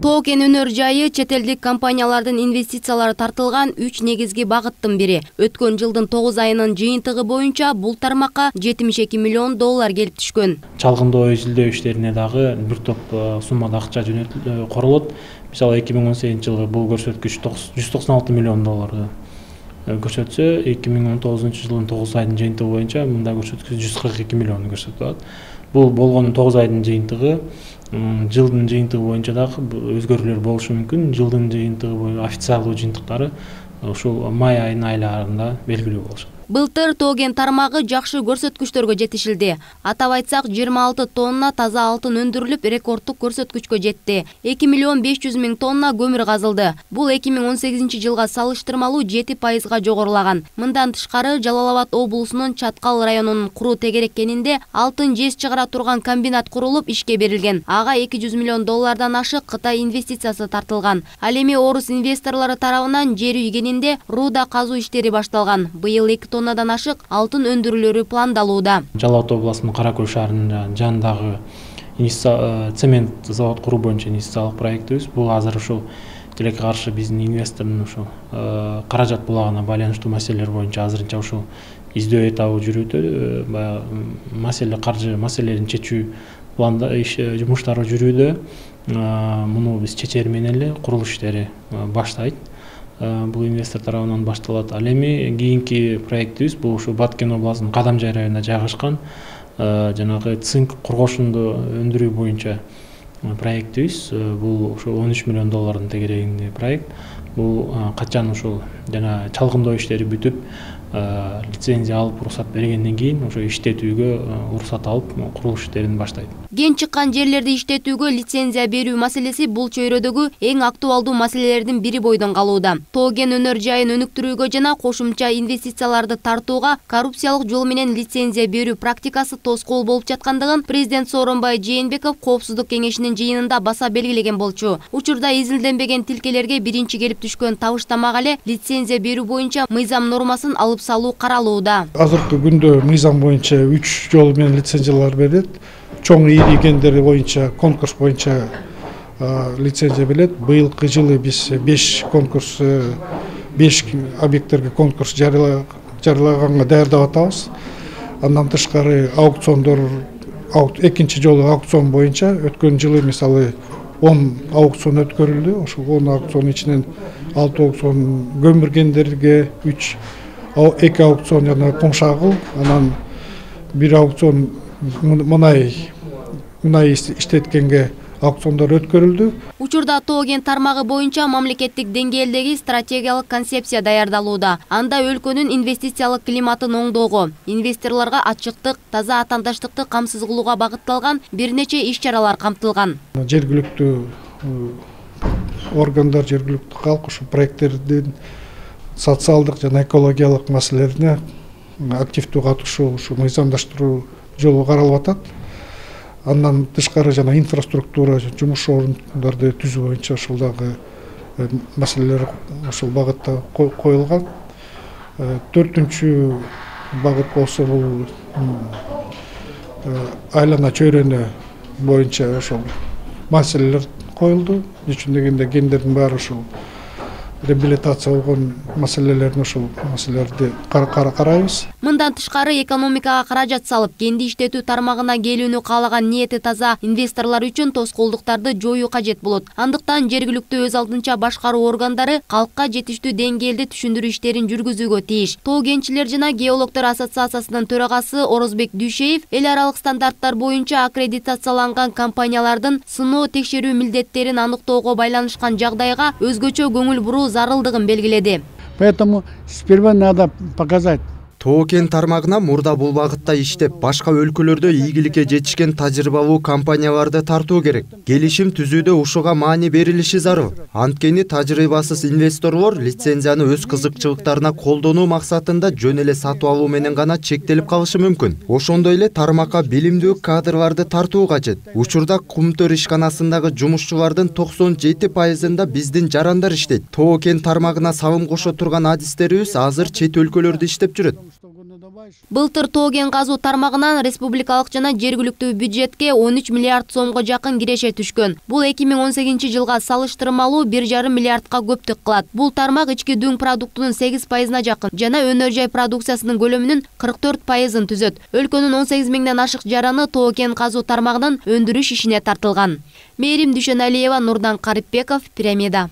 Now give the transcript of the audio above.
Тоо кен өнөр жайы чет элдик компаниялардын инвестициялары тартылган 3 негизги багыттын бири. Өткөн жылдын 9 айынын жыйынтыгы боюнча бул тармакка $72 миллион келип түшкөн. Чалгындоо изилдөө иштерине дагы бир топ суммада акча корулот. Мисалы 2018 жылы бул көрсөткүч $196 миллион көрсөтсө, 2019 жылдын 9 айдын жыйынтыгы боюнча мында көрсөткүч $142 миллион көрсөтүп атат. Бул болгону 9 айдын жыйынтыгы, жылдын жыйынтыгы боюнча дагы өзгөрүүлөр болушу мүмкүн. Жылдын жыйынтыгы боюнча официалдуу жыйынтыктары ушул май айынын айларында белгилүү болушат. Былтыр тоо кен тармагы жакшы көрсөткүчтөргө жетишилди. Атап айтсак, 26 тонна таза алтын өндүрүлүп, рекордтук көрсөткүчкө жетти. 2 миллион 500 миң тонна көмүр казылды. Бул 2018 жылга салыштырмалуу 7% жогорулаган. Мындан тышкары, Жалал Абад облусунун Чаткал районунун Куру Тегерек кенинде алтын жез чыгара турган комбинат курулуп, ишке берилген. Ага $200 миллион ашык Кытай инвестициясы тартылган. Ал эми орус инвесторлору тарабынан жер үй кенинде рууда казуу иштери башталган. Быйыл 2 тоннадан ашык алтын өндүрүлөрү пландалууда. Жалал Абад областынын Каракөл шаарынын жанындагы цемент завод куруу боюнча инвестициялык проектибиз. Бул азыр ушул тилекке каршы биздин инвестордун ушул каражат булагына байланыштуу маселелер боюнча азырынча ушул издөө этабы жүрүүдө. Маселе каржы маселелерин чечүү планда жумуштары жүрүүдө. Муну биз чечери менен эле курулуш иштери баштайт. Бул инвестор тарабынан башталат. Ал эми кийинки проектибиз бул ушу Баткен областынын Кадамжай районунда жайгашкан жанагы цинк кургошунду өндүрүү боюнча проектибиз. Бул ушу $13 миллион тегерегинде проект. Бул качан ушул жана чалгындоо иштери бүтүп, лицензия алып, уруксат бергенден кийин ошо иштетүүгө уруксат алып, курулуш иштерин баштайт. Кен чыккан жерлерди иштетүүгө лицензия берүү маселеси бул чөйрөдөгү эң актуалдуу маселелердин бири бойдон калууда. Тоо кен өнөр жайын өнүктүрүүгө жана кошумча инвестицияларды тартууга коррупциялык жол менен лицензия берүү практикасы тоскоол болуп жаткандыгын президент Сооронбай Жээнбеков Коопсуздук кеңешинин жыйынында баса белгилеген болчу. Учурда изилденбеген тилкелерге биринчи келип түшкөн табыштамак эле лицензия берүү боюнча мыйзам нормасын алып салуу каралууда. Азыркы күндө мыйзам боюнча 3 жол менен лицензиялар берилет. Чоң ийри кендер боюнча конкурс боюнча лицензия берилет. Быйылкы жылы биз 5 конкурс 5 объекттерге конкурс жарыялаганга даярдап атабыз. Андан тышкары аукциондор экинчи жолу аукцион боюнча өткөн жылы мисалы 10 аукцион өткөрүлдү. Ошол 10 аукцион ичинен 6 аукцион көмүр кендерге, 2 аукцион жана кумшагыл, анан 1 аукцион мунай иштеткенге аукциондор өткөрүлдү. Учурда тоо кен тармагы боюнча мамлекеттик деңгээлдеги стратегиялык концепция даярдалууда. Анда өлкөнүн инвестициялык климатын оңдоого, инвесторлорго ачыктык, таза атаандаштыкты камсыз кылууга багытталган бир нече иш-чаралар камтылган. Жергиликтүү органдар, жергиликтүү калк ушу проекттердин социалдык жана экологиялык маселелерине активдүү катышуу, ушу мыйзамдаштыруу жолу каралып атат. Андан тышкары жана инфраструктура жумуш орундарды түзүү боюнча ушул дагы маселелер ушул багытта коюлган. 4-үнчү багыт болсо бул айлана чөйрөнү боюнча ошол маселелер коюлду. Үчүн дегенде кендердин баары ушул реабилитация болгон маселелерин ушул маселелерди карайбыз. Мындан тышкары экономикага каражат салып, кенди иштетүү тармагына келүүнү каалаган ниети таза инвесторлор үчүн тоскоолдуктарды жоюу кажет болот. Андыктан жергиликтүү өз алдынча башкаруу органдары калкка жетиштүү деңгээлде түшүндүрүү иштерин жүргүзүүгө тийиш. Тоо кенчилер жана геологдор ассоциациясынын төрагасы Орозбек Дүйшеев эл аралык стандарттар боюнча аккредитацияланган компаниялардын сыноо текшерүү милдеттерин аныктоого байланышкан жагдайга өзгөчө көңүл буруу зарылдыгын белгиледи. Поэтому сперва надо показать. Тоо кен тармагына мурда бул багытта иштеп, башка өлкөлөрдө ийгиликке жетишкен тажрыйбалуу компанияларды тартуу керек. Келишим түзүүдө ушуга маани берилиши зарыл. Анткени тажрыйбасыз инвесторлор лицензияны өз кызыкчылыктарына колдонуу максатында жөн эле сатып алуу менен гана чектелип калышы мүмкүн. Ошондой эле тармакка билимдүү кадрларды тартуу кажет. Учурда Кумтөр ишканасындагы жумушчулардын 97%-ында биздин жарандар иштейт. Тоо кен тармагына салым кошо турган адистерибиз азыр чет өлкөлөрдө иштеп жүрөт. Былтыр тоо кен казуу тармагынан республикалык жана жергиликтүү бюджетке 13 миллиард сомго жакын киреше түшкөн. Бул 2018 жылга салыштырмалуу 1,5 миллиардка көптүк кылат. Бул тармак ички дүң продуктунун 8%на жакын жана өнөр жай продукциясынын көлөмүнүн 44%ын түзөт. Өлкөнүн 18 миңден ашык жараны тоо кен казуу тармагынан өндүрүш ишине тартылган. Мээрим Дүйшөналиева, Нурдан Карипбеков, Пирамида.